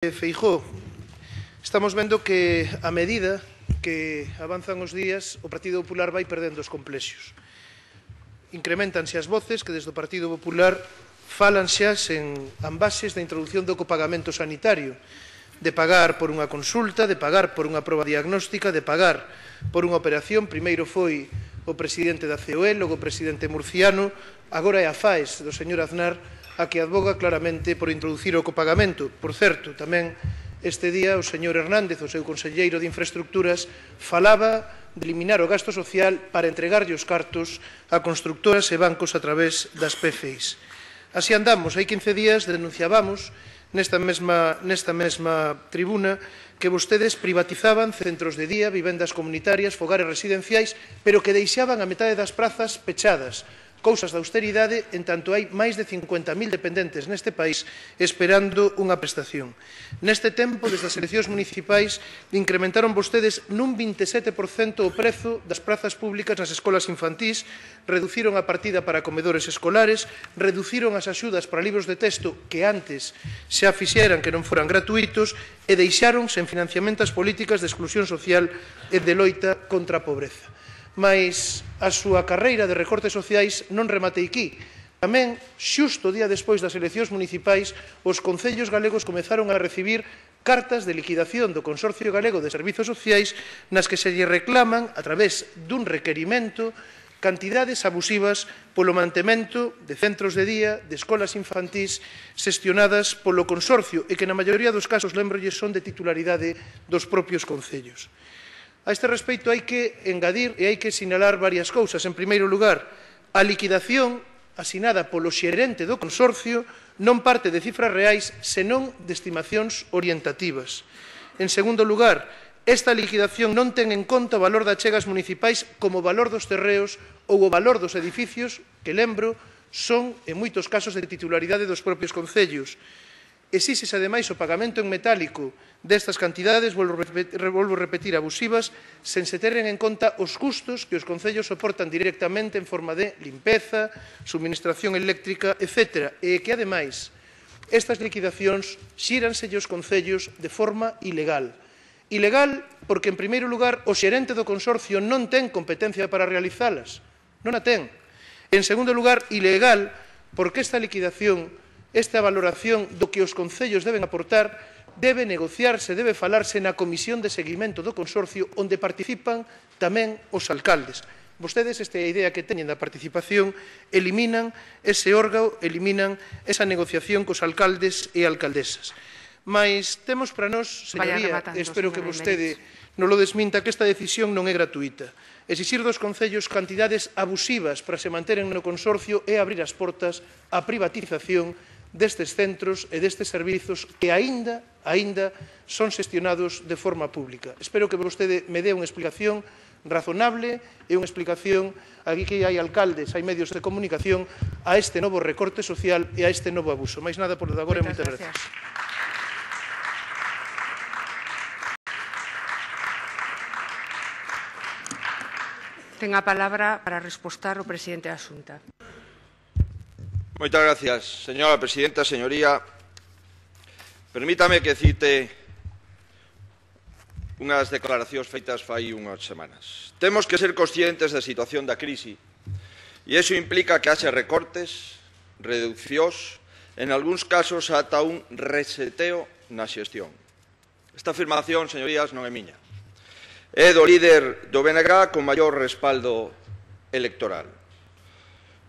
Feijóo, estamos vendo que, a medida que avanzan os días, o Partido Popular vai perdendo os complexos. Incrementanse as voces que desde o Partido Popular falan xa sen ambaxes da introducción do copagamento sanitario, de pagar por unha consulta, de pagar por unha proba diagnóstica, de pagar por unha operación. Primeiro foi o presidente da COE, logo o presidente murciano, agora é a FAES do señor Aznar a que advoga claramente por introducir o copagamento. Por certo, tamén este día o señor Hernández, o seu conselleiro de Infraestructuras, falaba de eliminar o gasto social para entregarlle os cartos a constructoras e bancos a través das PFIs. Así andamos. Hai 15 días denunciábamos nesta mesma tribuna que vostedes privatizaban centros de día, vivendas comunitarias, fogares residenciais, pero que deixaban a metade das prazas pechadas. Cousas de austeridade, en tanto hai máis de 50.000 dependentes neste país esperando unha prestación. Neste tempo, desde as eleccións municipais, incrementaron vostedes nun 27% o prezo das prazas públicas nas escolas infantís, reduciron a partida para comedores escolares, reduciron as axudas para libros de texto que antes xa fixeran que non foran gratuitos e deixaron sen financiamento as políticas de exclusión social e de loita contra a pobreza. Mais a súa carreira de recortes sociais non remate aquí. Tamén, xusto o día despois das eleccións municipais, os concellos galegos comezaron a recibir cartas de liquidación do Consorcio Galego de Servizos Sociais nas que se lle reclaman, a través dun requerimento, cantidades abusivas polo mantemento de centros de día, de escolas infantís xestionadas polo Consorcio e que na maioría dos casos, lembrolles, son de titularidade dos propios concellos. A este respecto hai que engadir e hai que sinalar varias cousas. En primeiro lugar, a liquidación asinada polo xerente do consorcio non parte de cifras reais, senón de estimacións orientativas. En segundo lugar, esta liquidación non ten en conta o valor das achegas municipais como o valor dos terreos ou o valor dos edificios, que, lembro, son, en moitos casos, de titularidade dos propios concellos. Exíxese, ademais, o pagamento en metálico destas cantidades, volvo a repetir, abusivas, sen se teren en conta os custos que os concellos soportan directamente en forma de limpeza, suministración eléctrica, etc. E que, ademais, estas liquidacións xíranselle aos concellos de forma ilegal. Ilegal porque, en primeiro lugar, o xerente do consorcio non ten competencia para realizalas. Non a ten. En segundo lugar, ilegal porque esta liquidación, esta valoración do que os concellos deben aportar, debe negociarse, debe falarse na comisión de seguimento do consorcio, onde participan tamén os alcaldes. Vostedes, esta idea que teñen da participación, eliminan ese órgano, eliminan esa negociación cos alcaldes e alcaldesas. Mais temos para nós, señoría, espero que vostede non lo desminta, que esta decisión non é gratuita. Exixir dos concellos cantidades abusivas para se manteren no consorcio é abrir as portas á privatización destes centros e destes servizos que aínda son xestionados de forma pública. Espero que vostede me dé unha explicación razonable e unha explicación, aquí que hai alcaldes, hai medios de comunicación, a este novo recorte social e a este novo abuso. Mais nada por de agora e moitas gracias. Ten a palabra para respostar o presidente da Xunta. Moitas gracias, señora presidenta. Señoría, permítame que cite unhas declaracións feitas fai unhas semanas. Temos que ser conscientes da situación da crise e iso implica que haxe recortes, reducións, en algúns casos ata un reseteo na xestión. Esta afirmación, señorías, non é miña. É do líder do BNG con maior respaldo electoral.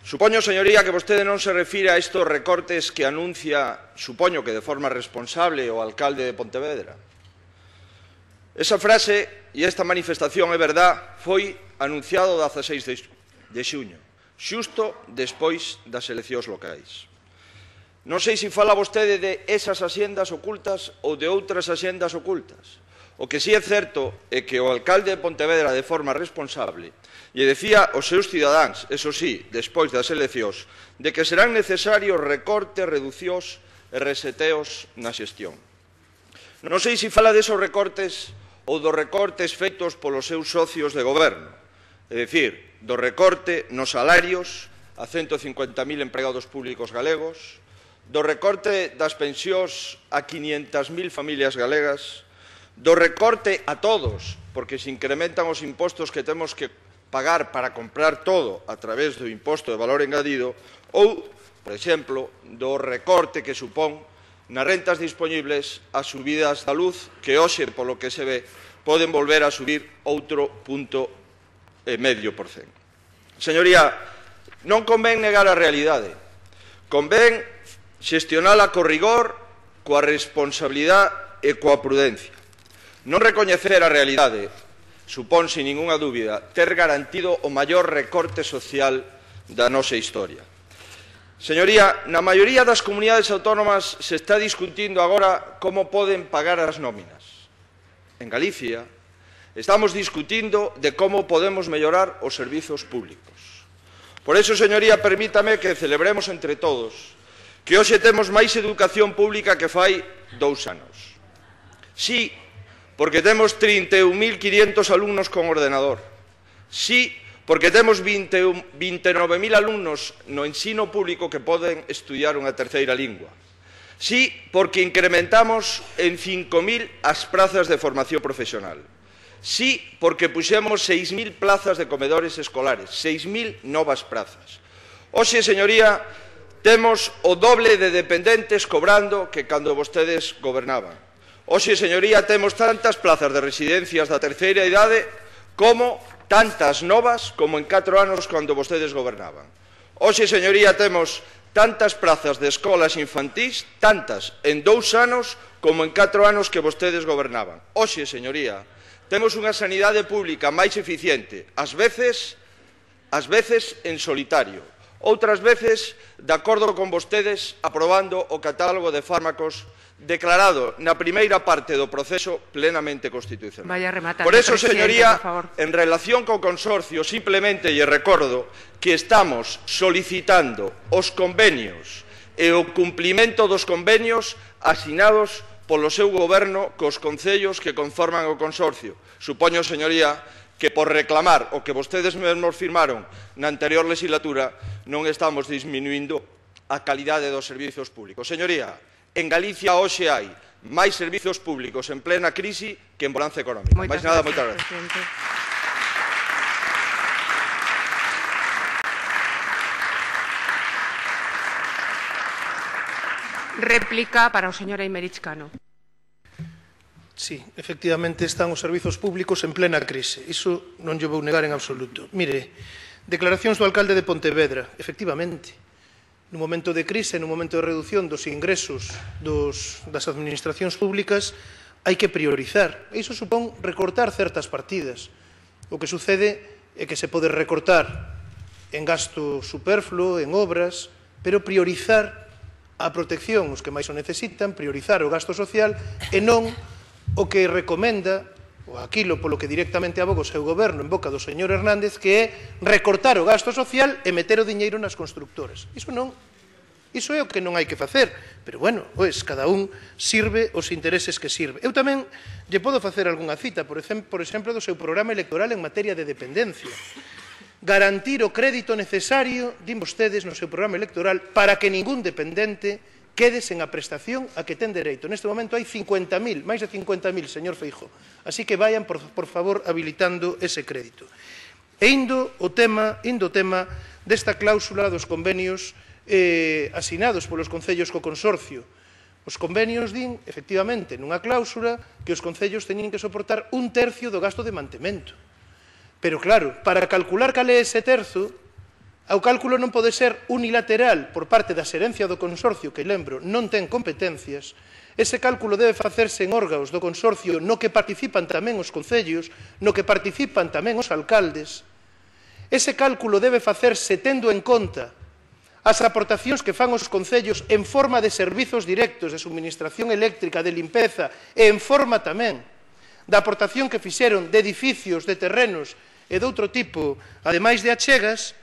Supoño, señoría, que vostede non se refire a estes recortes que anuncia, supoño que de forma responsable, o alcalde de Pontevedra. Esa frase e esta manifestación, é verdad, foi anunciado o 16 de xuño, xusto despois das eleccións locais. Non sei se fala vostede de esas axendas ocultas ou de outras axendas ocultas. O que si é certo é que o alcalde de Pontevedra, de forma responsable, lle decía aos seus cidadáns, eso sí, despois das eleccións, de que serán necesarios recortes, reducións e reseteos na xestión. Non sei se fala desos recortes ou dos recortes feitos polos seus socios de goberno, é dicir, do recorte nos salarios a 150.000 empregados públicos galegos, do recorte das pensións a 500.000 familias galegas, do recorte a todos, porque se incrementan os impostos que temos que pagar para comprar todo a través do imposto de valor engadido, ou, por exemplo, do recorte que supón nas rentas dispoñibles as subidas da luz, que hoxe, polo que se ve, poden volver a subir outro 0,5%. Señoría, non convén negar a realidade, convén xestionala co rigor, coa responsabilidade e coa prudencia. Non recoñecer a realidade supón, sin ningunha dúbida, ter garantido o maior recorte social da nosa historia. Señoría, na maioría das comunidades autónomas se está discutindo agora como poden pagar as nóminas. En Galicia estamos discutindo de como podemos mellorar os servizos públicos. Por iso, señoría, permítame que celebremos entre todos que hoxe temos máis educación pública que fai 2 anos. Sí, porque temos 31.500 alumnos con ordenador. Sí, porque temos 29.000 alumnos no ensino público que poden estudiar unha terceira lingua. Sí, porque incrementamos en 5.000 as prazas de formación profesional. Sí, porque puxemos 6.000 plazas de comedores escolares, 6.000 novas plazas. Hoxe, señoría, temos o doble de dependentes cobrando que cando vostedes gobernaban. Hoxe, señoría, temos tantas plazas de residencias da terceira idade como tantas novas como en 4 anos cando vostedes gobernaban. Hoxe, señoría, temos tantas plazas de escolas infantís, tantas en 2 anos como en 4 anos que vostedes gobernaban. Hoxe, señoría, temos unha sanidade pública máis eficiente, ás veces en solitario, outras veces de acordo con vostedes aprobando o catálogo de fármacos declarado na primeira parte do proceso plenamente constitucional. Por eso, señoría, en relación co consorcio, simplemente lle recordo que estamos solicitando os convenios e o cumplimento dos convenios asinados polo seu goberno cos concellos que conforman o consorcio. Supoño, señoría, que por reclamar o que vostedes mesmos firmaron na anterior legislatura non estamos disminuindo a calidade dos servizos públicos. Señoría, en Galicia hoxe hai máis servizos públicos en plena crise que en bonanza económica. Máis nada, moitas gracias. Réplica para o señor Eimerich Cano. Sí, efectivamente están os servizos públicos en plena crise. Iso non lle vou negar en absoluto. Mire, declaracións do alcalde de Pontevedra. Efectivamente, nun momento de crise, nun momento de reducción dos ingresos das administracións públicas, hai que priorizar. Iso supón recortar certas partidas. O que sucede é que se pode recortar en gasto superfluo, en obras, pero priorizar a protección os que máis o necesitan, priorizar o gasto social e non o que recomenda, ou aquilo polo que directamente aboga o seu goberno en boca do señor Hernández, que é recortar o gasto social e meter o diñeiro nas constructoras. Iso é o que non hai que facer, pero, bueno, pois, cada un sirve os intereses que sirve. Eu tamén lle podo facer algunha cita, por exemplo, do seu programa electoral en materia de dependencia. Garantir o crédito necesario, din vostedes no seu programa electoral, para que ningún dependente quede sen a prestación a que ten dereito. Neste momento hai 50.000, máis de 50.000, señor Feijóo. Así que vayan, por favor, habilitando ese crédito. E indo o tema desta cláusula dos convenios asinados polos concellos co consorcio. Os convenios din, efectivamente, nunha cláusula que os concellos teñen que soportar 1/3 do gasto de mantemento. Pero, claro, para calcular cal é ese terzo, o cálculo non pode ser unilateral por parte da xerencia do consorcio, que, lembro, non ten competencias. Ese cálculo debe facerse en órganos do consorcio no que participan tamén os concellos, no que participan tamén os alcaldes. Ese cálculo debe facerse tendo en conta as aportacións que fan os concellos en forma de servizos directos de suministración eléctrica, de limpeza, e en forma tamén da aportación que fixeron de edificios, de terrenos e de outro tipo, ademais de achegas.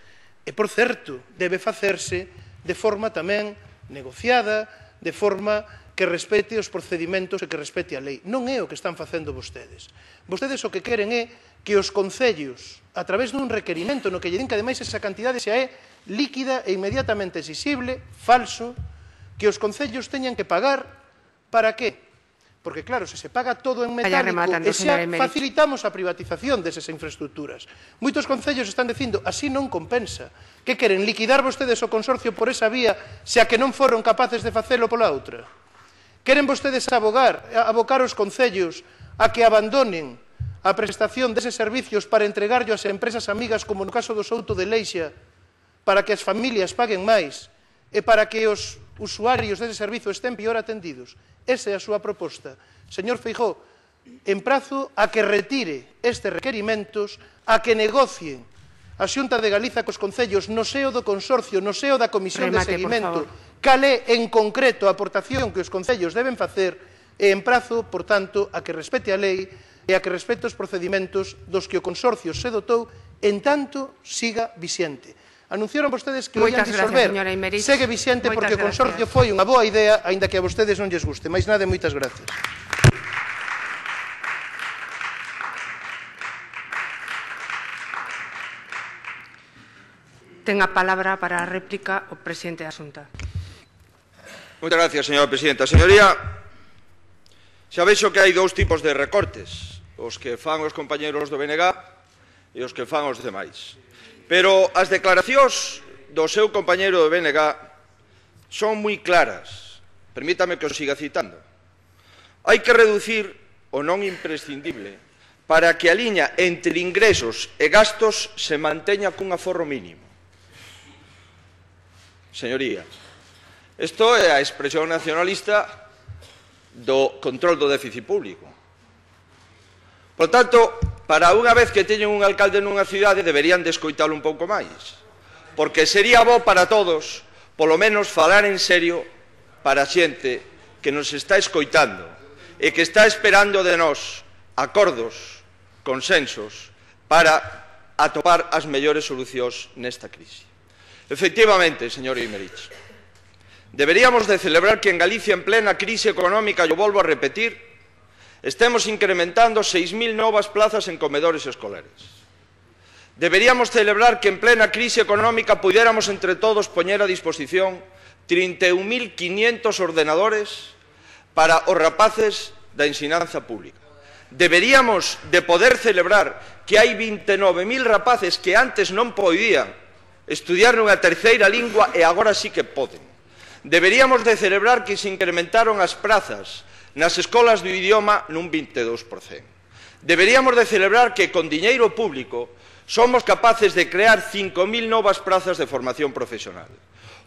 E, por certo, debe facerse de forma tamén negociada, de forma que respete os procedimentos e que respete a lei. Non é o que están facendo vostedes. Vostedes o que queren é que os concellos, a través dun requerimento no que lle din que ademais esa cantidade xa é líquida e inmediatamente exixible, falso, que os concellos teñan que pagar para qué? Porque, claro, se se paga todo en metálico e xa facilitamos a privatización desas infraestructuras. Moitos concellos están dicindo, así non compensa. Que queren, liquidar vostedes o consorcio por esa vía se a que non foron capaces de facelo pola outra? Queren vostedes abocar os concellos a que abandonen a prestación deses servicios para entregarlo ás empresas amigas, como no caso do Souto de Leixa, para que as familias paguen máis e para que os usuarios dese servizo estén peor atendidos? Esa é a súa proposta. Señor Feijóo, emprazo a que retire estes requerimentos, a que negocien a Xunta de Galiza cos concellos no seo do consorcio, no seo da comisión de seguimento, cal é en concreto a aportación que os concellos deben facer, e emprazo, por tanto, a que respete a lei e a que respete os procedimentos dos que o consorcio se dotou en tanto siga vixente. Anunciaron vostedes que o ian disolver. Segue vixente porque o consorcio foi unha boa idea, aínda que a vostedes non lles guste. Mais nada, moitas gracias. Ten a palabra para a réplica o presidente da Xunta. Moitas gracias, señora presidenta. Señoría, xa vexo que hai dous tipos de recortes, os que fan os compañeros do BNG e os que fan os demais. Pero as declaracións do seu compañeiro do BNG son moi claras. Permítame que os siga citando. Hai que reducir o non imprescindible para que a liña entre ingresos e gastos se manteña cun aforro mínimo. Señoría, isto é a expresión nacionalista do control do déficit público. Por tanto, para unha vez que teñen un alcalde nunha cidade, deberían de escoitalo un pouco máis. Porque sería bo para todos, polo menos, falar en serio para a xente que nos está escoitando e que está esperando de nós acordos, consensos, para atopar as mellores solucións nesta crise. Efectivamente, señor Imerich, deberíamos de celebrar que en Galicia, en plena crise económica, yo volvo a repetir, estemos incrementando 6.000 novas plazas en comedores escolares. Deberíamos celebrar que en plena crise económica pudiéramos entre todos poñer a disposición 31.500 ordenadores para os rapaces da ensinanza pública. Deberíamos de poder celebrar que hai 29.000 rapaces que antes non podían estudiar nunha terceira lingua e agora sí que poden. Deberíamos de celebrar que se incrementaron as prazas nas escolas do idioma nun 22%. Deberíamos de celebrar que con diñeiro público somos capaces de crear 5.000 novas prazas de formación profesional.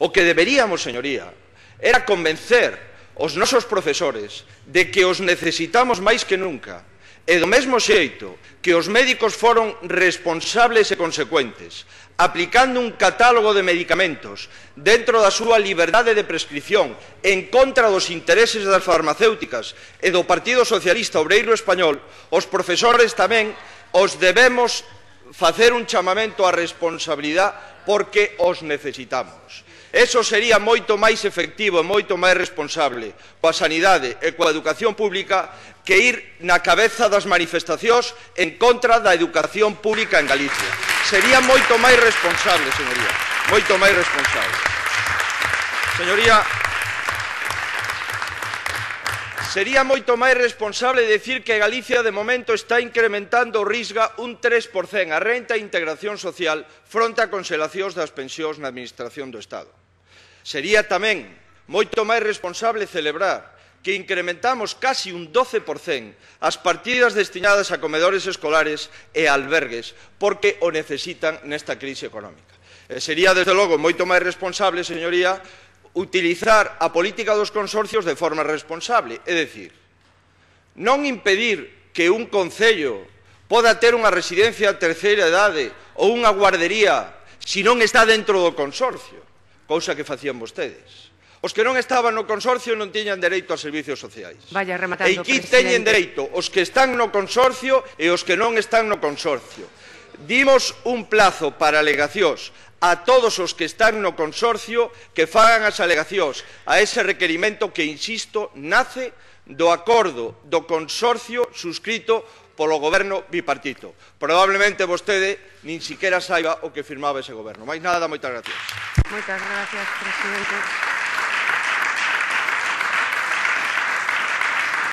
O que deberíamos, señoría, era convencer os nosos profesores de que os necesitamos máis que nunca, e do mesmo xeito que os médicos foron responsables e consecuentes, aplicando un catálogo de medicamentos dentro da súa liberdade de prescripción en contra dos intereses das farmacéuticas e do Partido Socialista Obreiro Español, os profesores tamén os debemos facer un chamamento á responsabilidade porque os necesitamos. Eso sería moito máis efectivo e moito máis responsable coa sanidade e coa educación pública que ir na cabeza das manifestacións en contra da educación pública en Galicia. Sería moito máis responsable, señoría, moito máis responsable. Señoría, sería moito máis responsable decir que Galicia de momento está incrementando o Risga un 3% a renta e integración social fronte a congelacións das pensións na Administración do Estado. Sería tamén moito máis responsable celebrar que incrementamos casi un 12% as partidas destinadas a comedores escolares e albergues porque o necesitan nesta crise económica. Sería, desde logo, moito máis responsable, señoría, utilizar a política dos consorcios de forma responsable, é dicir, non impedir que un concello poda ter unha residencia de terceira idade ou unha guardería se non está dentro do consorcio, cousa que facían vostedes. Os que non estaban no consorcio non tiñan dereito a servicios sociais. Vaya rematando, e aquí teñen dereito os que están no consorcio e os que non están no consorcio. Dimos un plazo para alegacións a todos os que están no consorcio que fagan as alegacións a ese requerimento que, insisto, nace do acordo do consorcio suscrito polo goberno bipartito. Probablemente vostede nin siquiera saiba o que firmaba ese goberno. Mais nada, moitas gracias. Moitas gracias, presidente.